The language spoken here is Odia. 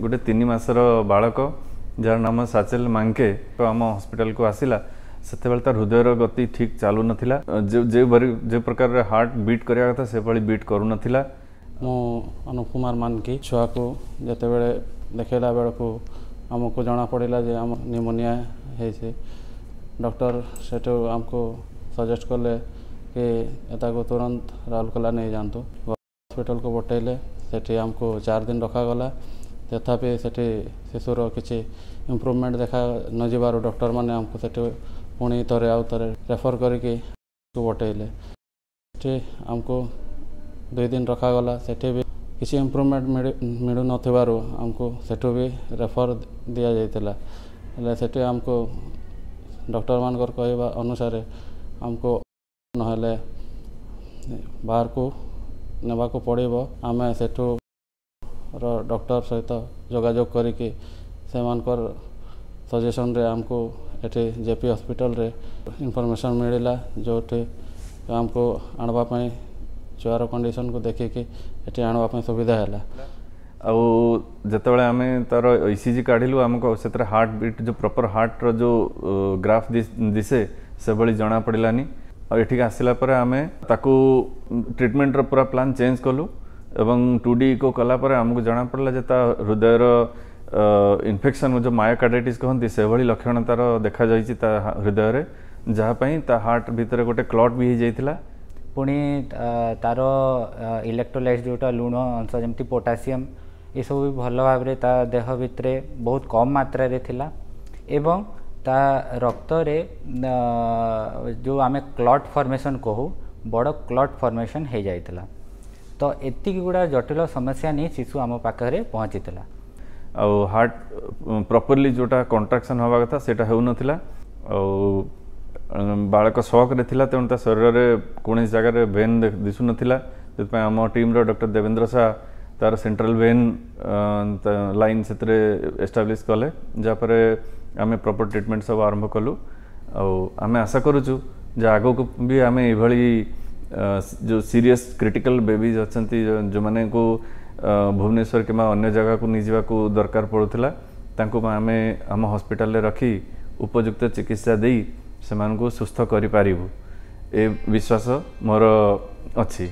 ଗୋଟେ 3 ମାସର ବାଳକ, ଯାହାର ନାମ ସାଚେଲ ମାଙ୍କେ, ଆମ ହସ୍ପିଟାଲକୁ ଆସିଲା, ସେତେବେଳେ ତାର ହୃଦୟର ଗତି ଠିକ୍ ଚାଲୁନଥିଲା। ଯେଉଁଭଳି ଯେଉଁ ପ୍ରକାରରେ ହାର୍ଟ ବିଟ୍ କରିବା କଥା, ସେଭଳି ବିଟ୍ କରୁନଥିଲା। ମୁଁ ଅନୁପ କୁମାର ମାନକି। ଛୁଆକୁ ଯେତେବେଳେ ଦେଖେଇଲା ବେଳକୁ ଆମକୁ ଜଣାପଡ଼ିଲା ଯେ ଆମ ନିମୋନିଆ ହେଇଛି। ଡକ୍ଟର ସେଠୁ ଆମକୁ ସଜେଷ୍ଟ କଲେ କି ତାକୁ ତୁରନ୍ତ ରାଉରକେଲା ନେଇଯାଆନ୍ତୁ। ହସ୍ପିଟାଲକୁ ପଠେଇଲେ, ସେଠି ଆମକୁ 4 ଦିନ ରଖାଗଲା। ତଥାପି ସେଠି ଶିଶୁର କିଛି ଇମ୍ପ୍ରୁଭମେଣ୍ଟ ଦେଖା ନଯିବାରୁ ଡକ୍ଟରମାନେ ଆମକୁ ସେଠି ପୁଣି ଥରେ ଆଉ ଥରେ ରେଫର କରିକି ପଠେଇଲେ। ସେଠି ଆମକୁ 2 ଦିନ ରଖାଗଲା। ସେଠି ବି କିଛି ଇମ୍ପ୍ରୁଭମେଣ୍ଟ ମିଳୁନଥିବାରୁ ଆମକୁ ସେଠୁ ବି ରେଫର ଦିଆଯାଇଥିଲା। ହେଲେ ସେଠି ଆମକୁ ଡକ୍ଟରମାନଙ୍କର କହିବା ଅନୁସାରେ ଆମକୁ ନହେଲେ ବାହାରକୁ ନେବାକୁ ପଡ଼ିବ। ଆମେ ସେଠୁ ର ଡକ୍ଟର ସହିତ ଯୋଗାଯୋଗ କରିକି ସେମାନଙ୍କର ସଜେସନରେ ଆମକୁ ଏଠି ଜେପି ହସ୍ପିଟାଲରେ ଇନଫର୍ମେସନ୍ ମିଳିଲା, ଯେଉଁଠି ଆମକୁ ଆଣିବା ପାଇଁ ଛୁଆର କଣ୍ଡିସନକୁ ଦେଖିକି ଏଠି ଆଣିବା ପାଇଁ ସୁବିଧା ହେଲା। ଆଉ ଯେତେବେଳେ ଆମେ ତାର ଇସିଜି କାଢ଼ିଲୁ, ଆମକୁ ସେଥିରେ ହାର୍ଟ ବିଟ୍ ଯେଉଁ ପ୍ରପର ହାର୍ଟର ଯେଉଁ ଗ୍ରାଫ୍ ଦିଶେ, ସେଭଳି ଜଣାପଡ଼ିଲାନି। ଆଉ ଏଠିକି ଆସିଲା ପରେ ଆମେ ତାକୁ ଟ୍ରିଟମେଣ୍ଟର ପୁରା ପ୍ଲାନ୍ ଚେଞ୍ଜ କଲୁ ଏବଂ 2D eco କଲା ପରେ ଆମକୁ ଜଣାପଡ଼ିଲା ଯେ ତା ହୃଦୟର ଇନଫେକ୍ସନ୍, ଯେଉଁ ମାୟୋକାର୍ଡାଇଟିସ୍ କହନ୍ତି, ସେଭଳି ଲକ୍ଷଣ ତାର ଦେଖାଯାଇଛି ତା ହୃଦୟରେ, ଯାହା ପାଇଁ ତା ହାର୍ଟ ଭିତରେ ଗୋଟେ କ୍ଲଟ୍ ବି ହେଇଯାଇଥିଲା। ପୁଣି ତାର ଇଲେକ୍ଟ୍ରୋଲାଇଟ୍ସ, ଯେଉଁଟା ଲୁଣ ଅଂଶ, ଯେମିତି ପୋଟାସିୟମ୍, ଏସବୁ ବି ଭଲ ଭାବରେ ତା ଦେହ ଭିତରେ ବହୁତ କମ୍ ମାତ୍ରାରେ ଥିଲା ଏବଂ ତା ରକ୍ତରେ ଯେଉଁ ଆମେ କ୍ଲଟ୍ ଫର୍ମେସନ୍ କହୁ, ବଡ଼ କ୍ଲଟ୍ ଫର୍ମେସନ୍ ହେଇଯାଇଥିଲା। ତ ଏତିକି ଗୁଡ଼ା ଜଟିଳ ସମସ୍ୟା ନେଇ ଶିଶୁ ଆମ ପାଖରେ ପହଞ୍ଚିଥିଲା। ଆଉ ହାର୍ଟ ପ୍ରପରଲି ଯେଉଁଟା କଣ୍ଟ୍ରାକ୍ସନ୍ ହେବା କଥା, ସେଇଟା ହେଉନଥିଲା। ଆଉ ବାଳକ ସକ୍ରେ ଥିଲା, ତେଣୁ ତା ଶରୀରରେ କୌଣସି ଜାଗାରେ ଭେନ୍ ଦିଶୁନଥିଲା। ସେଥିପାଇଁ ଆମ ଟିମ୍ର ଡକ୍ଟର ଦେବେନ୍ଦ୍ର ଶାହ ତାର ସେଣ୍ଟ୍ରାଲ ଭେନ୍ ଲାଇନ୍ ସେଥିରେ ଏଷ୍ଟାବ୍ଲିଶ୍ କଲେ, ଯାହାପରେ ଆମେ ପ୍ରପର ଟ୍ରିଟମେଣ୍ଟ ସବୁ ଆରମ୍ଭ କଲୁ। ଆଉ ଆମେ ଆଶା କରୁଛୁ ଯେ ଆଗକୁ ବି ଆମେ ଏଇଭଳି ଯେଉଁ ସିରିୟସ୍ କ୍ରିଟିକାଲ ବେବିଜ୍ ଅଛନ୍ତି, ଯେଉଁମାନଙ୍କୁ ଭୁବନେଶ୍ୱର କିମ୍ବା ଅନ୍ୟ ଜାଗାକୁ ନେଇଯିବାକୁ ଦରକାର ପଡ଼ୁଥିଲା, ତାଙ୍କୁ ଆମେ ଆମ ହସ୍ପିଟାଲରେ ରଖି ଉପଯୁକ୍ତ ଚିକିତ୍ସା ଦେଇ ସେମାନଙ୍କୁ ସୁସ୍ଥ କରିପାରିବୁ, ଏ ବିଶ୍ୱାସ ମୋର ଅଛି।